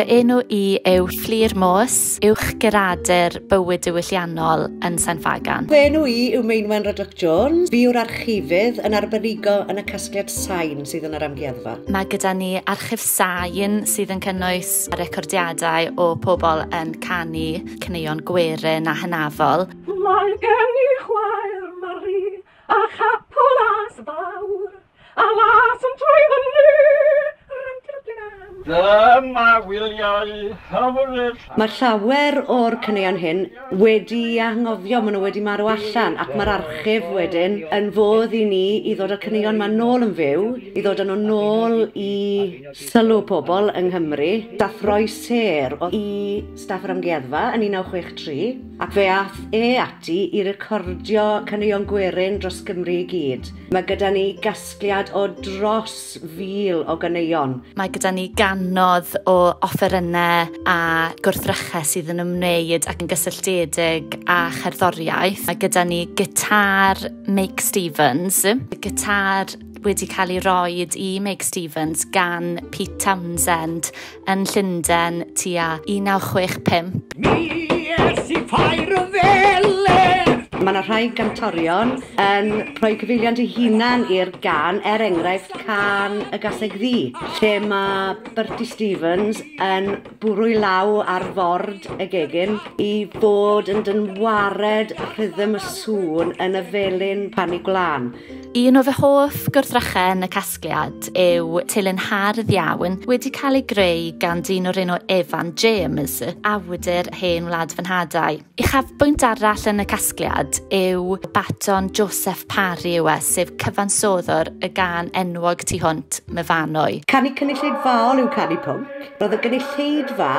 Fy enw i yw Fflur Morse, uwch guradur bywyd diwylliannol yn Sain Ffagan. Fy enw i yw Meinwen Ruddock Jones. Fi yw'r archifydd yn arbenigo yn y casgliad sain sydd yn yr amgueddfa. Mae gyda ni archif sain sydd yn cynnwys recordiadau o pobl yn canu caneuon gwerin a hynafol. Mae gen i chwaer Mari a chapel las fawr, a las yn troi fyny. Dyma wyliau hyfryd. Mae llawer o'r caneuon hyn wedi anghofio, maen nhw wedi marw allan, ac mae'r archif wedyn yn fodd i ni i ddod â'r caneuon 'ma nôl yn fyw, i ddod â nhw nôl i sylw pobl yng Nghymru. Dath Roy Sêr i staff yr amgueddfa yn 1963, ac fe ath e ati i recordio caneuon gwerin dros Gymru i gyd. Mae gyda ni gasgliad o dros 1,000 o ganeuon. Mae gyda ni gannoedd o offerynnau a gwrthrychau sydd yn ymwneud ac yn gysylltiedig â cherddoriaeth. Mae gyda ni gitar Meic Stevens, gitar wedi cael ei roed i Meic Stevens gan Pete Townsend yn Llundain tua 1965. Mi es i ffair y Felen. Mae yna rhai gantorion yn rhoi cyfeiliant eu hunan i'r gan, er enghraifft Cân y Gaseg Ddu, lle mae Bertie Stevens yn bwrw i law ar ford y gegin i fod yn dynwared rhythm y sŵn yn y felin pan i gwlân. Un o fy hoff gwrthrychau yn y casgliad yw telyn hardd iawn wedi cael ei greu gan dyn o'r enw Evan James, awdur Hen Wlad Fy Nhadau. Uchafbwynt arall yn y casgliad yw baton Joseph Parry yw e, sef cyfansoddwr y gân enwog tu hwnt, Myfanwy. Canu cynulleidfaol yw canu pwnc. Roedd y gynulleidfa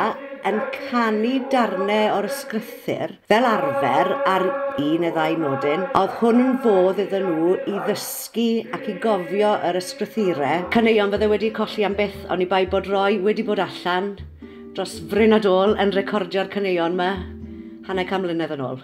yn canu darnau o'r ysgrythur fel arfer ar un neu ddau nodyn. Oedd hwn yn fodd iddyn nhw i ddysgu ac i gofio yr ysgrythurau. Caneuon fydde wedi colli am byth, oni bai bod Roy wedi bod allan dros fryn a dôl yn recordio'r caneuon yma hanner can mlynedd yn ôl.